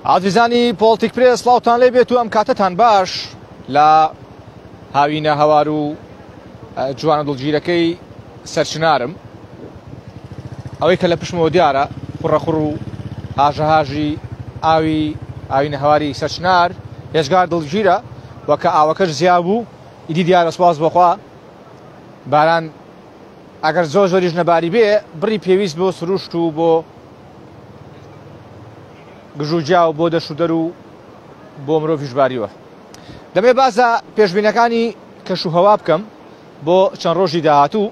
ئازیزانی پۆڵتیک پرێس سڵاوتان لێ بێت و ئەم کاتەتان باش لە هاوینە هەوار و جوانە دڵگیرەکەی سەرچنارم ئەوەی کە لە پشتمەوە دیارە خوڕەخوڕ و هاژەهاژی ئاوی ئاوینە هەواری سەرچنار هێجگار دڵگیرە و کە ئاوەکەش زیا بوو ئیدی دیارە سوپاس بۆخوا باران ئەگەر زۆر زۆریش نەباری بێ بڕی پێویست بۆ سروشت و بۆ گژوگیا و بۆ دەشودەر و بۆ مرۆڤیش باریوە. دەمێ باسە پێشبینەکانی کەش و هەوا بکەم بۆ چەند ڕۆژی داهاتوو.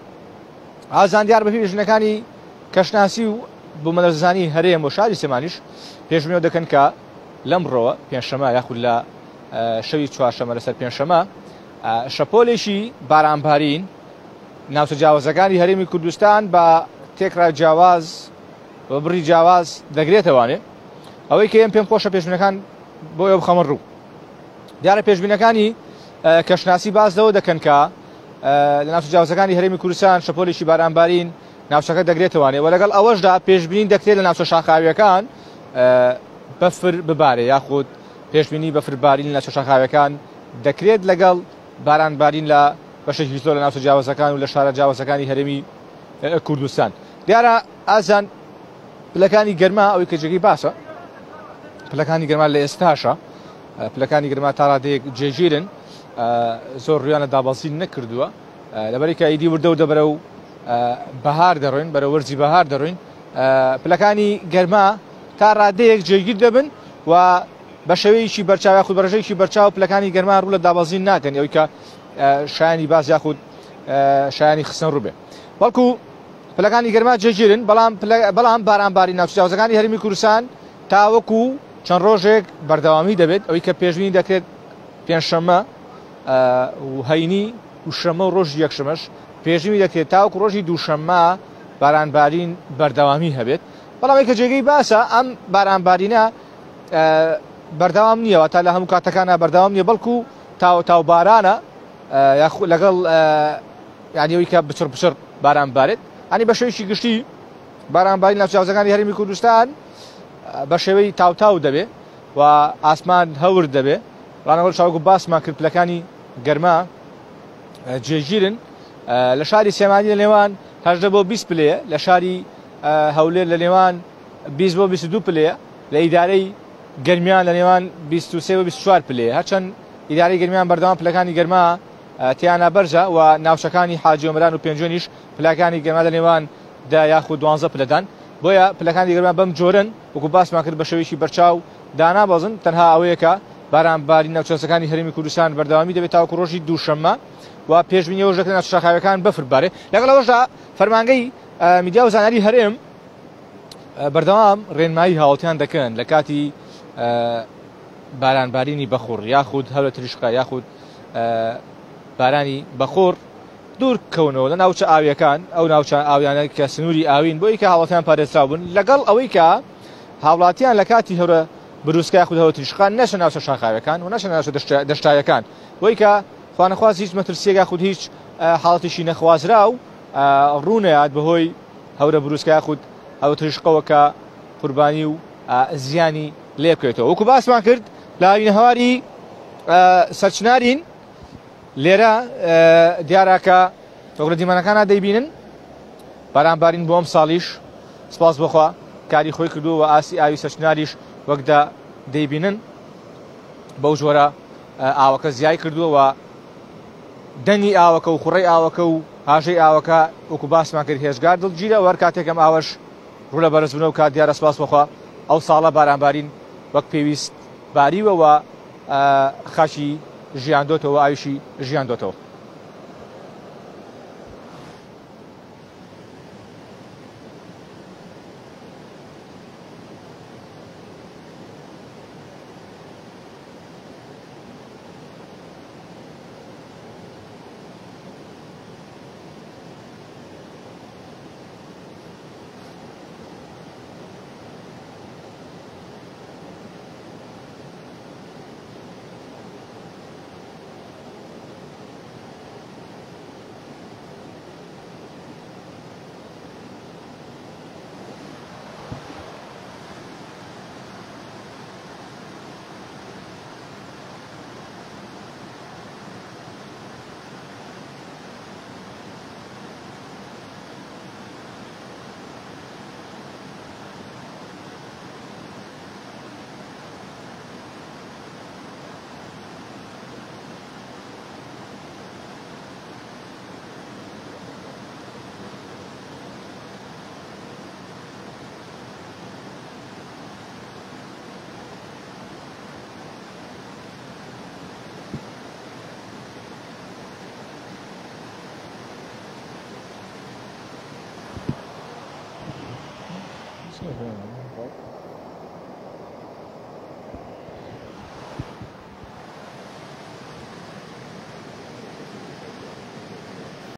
ئازان دیار بەپێی پێشبینەکانی کەشناسی و بوومەلەرزەزانی هەرێم و شاری سلێمانیش پێشبینەوە دەکەن کە لەمڕۆوە پێنجشەمە یاخود لە شەوی چوارشەمە لەسەر پێنجشەمە شەپۆلێکی بارانبارین ناوچە جیاوازەکانی هەرێمی کوردستان بە تێکڕای جیاواز و بڕی جیاواز دەگرێتەوانێ ئەوەی کە ئێم پێم خۆشە پێشبینەکان بۆ ئێوە بخەمە ڕوو دیارە پێشبینەکانی کەشناسی باس لەوە دەکەن کە لە ناوچە جیاوازەکانی هەرێمی کوردستان شەپۆلێکی بارانبارین ناوچەکە دەگرێتەوانێ و لەگەڵ ئەوەشدا پێشبینی دەکرێت لە ناوچە شاخاویەکان بەفر ببارێ یاخود پێشبینی بەفربارین لە ناوچە شاخاویەکان دەکرێت لەگەڵ بارانبارین لە بەشێکی زۆر لە ناوچە جیاوازەکان و لە شارە جیاوازەکانی هەرێمی کوردستان. دیارە ئازان پلەکانی گەرما ئەوەی کە جێگەی باسە پلەکانی گەرما لە ئێستاشە پلەکانی گەرما تا ڕادەیەک جێگیرن زۆر ڕویانە دابەزین نەکردووە لەبەرێکە ئیدی وردە و دەبەرە و بەهار دەڕۆین بەرە وەرزی بەهار دەڕۆین پلەکانی گەرما تا ڕادەیەک جێگیر دەبن و بە شێوەیەکی بەرچاو یاخود بەڕێژەیەکی بەرچاو پلەکانی گەرما ڕوو لە دابەزین ناکەن ئەوی کە شایانی باس یاخود شایانی خستن ڕوو بێ بەڵکو پلەکانی گەرما جێگیرن بەڵام بەڵام بارانباری ناوچە جیاوازەکانی هەرێمی کوردستان تاوەکو چەند ڕۆژێک بەردەوامی دەبێت ئەوەی کە پێشبینی دەکرێت پێنجشەممە و هەینی و شەممە و ڕۆژی یەکشەمەش پێشبینی دەکرێت تاوەکو ڕۆژی دووشەممە بارانبارین بەردەوامی هەبێت بەڵام ئەوەی کە جێگەی باسە ئەم بارانبارینە بەردەوام نییە واتە لە هەموو کاتەکانە بەردەوام نییە بەڵکو تاو تاو بارانە یاخود لەگەڵ یعنی ئەوی کە بچڕ بچڕ باران بارێت ئەنی بە شێوەیەکی گشتی بارانبارین لە جیاوازەکانی هەرێمی کوردستان بە شێوەی تاوتاو دەبێ و ئاسمان هەور دەبێ ڕانەوە چاوگو باسمان کرد پلەکانی گەرما جێگیرن لە شاری سلێمانی لە نێوان 18 بۆ 20 پلەیە لە شاری هەولێر لە نێوان 20 بۆ 22 پلەیە لە ئیدارەی گەرمیان لە نێوان 23 بۆ 24 پلەیە هەرچەند ئیدارەی گەرمیان بەردەوام پلەکانی گەرما تیانا بەرزە و ناوچەکانی حاجی ئۆمەران و پێنجوێنیش پلەکانی گەرما لە نێوان 10 یاخود 12 پلەدان بۆیە پلەکانی گەرما بەم جۆرن وەکو باسمان کرد بە شێوەیەکی بەرچاو دانابەزن تەنها ئەوەیە کە باران بارین ناوچەکانی هەرێمی کوردستان بەردەوامی دەبێت تاوەکو ڕۆژی دووشەممە و پێشبینی ئەوەش دەکرێت ناوچە شاخاویەکان بەفر بارێ لەگەڵ ئەوەشدا فەرمانگەی میدیا و زانیاری هەرێم بەردەوام ڕێنمایی هاوڵتیان دەکەن لە کاتی بارانبارینی بەخوڕ یاخود هەورە تریشقە یاخود بارانی بەخۆڕ دوور کەونەوە لە ناوچە ئاویەکان ئەو ناوچە ئاویانە کە سنووری ئاوین بۆی کە هاوڵاتیان پارێزراو بن لەگەڵ ئەوەی کە هاوڵاتیان لە کاتی هەورە بروسکە یاخود هەورە تریشقان نەچنە ناوچە شاخاویەکان و نەچنە ناوچە دەشتایەکان بۆی کە خوانەخواست هیچ مەترسیەک یاخود هیچ حاڵەتێکی نەخوازراو ڕوونەیات بەهۆی هەورە بروسکە یاخود هەورە تریشقەوە کە قوربانی و زیانی لێبکەوێتەوە وەکو باسمان کرد لە هاوینەهەواری سەرچنارین لێرە دیارە کە وەک لە دیمەنەکانە دەیبینن بارانبارین بۆ ئەم ساڵیش سپاس بۆخوا کاری خۆی کردووە و ئاستی ئاوی سەرچناریش وەکدا دەیبینن بەو جۆرە ئاوەکە زیای کردووە و دەنگی ئاوەکە و خوڕەی ئاوەکە و هاژەی ئاوەکە وەکو باسمان کرد هێجگار دڵگیرە وەر کاتێکم ئاوەش ڕوو لە بەرزبوونەوە کات دیارە سپاس بۆخوا ئەو ساڵە بارانبارین وەک پێویست باریوە و خاکی ژیاندۆتەوە ئاویشی ژیاندۆتەوە.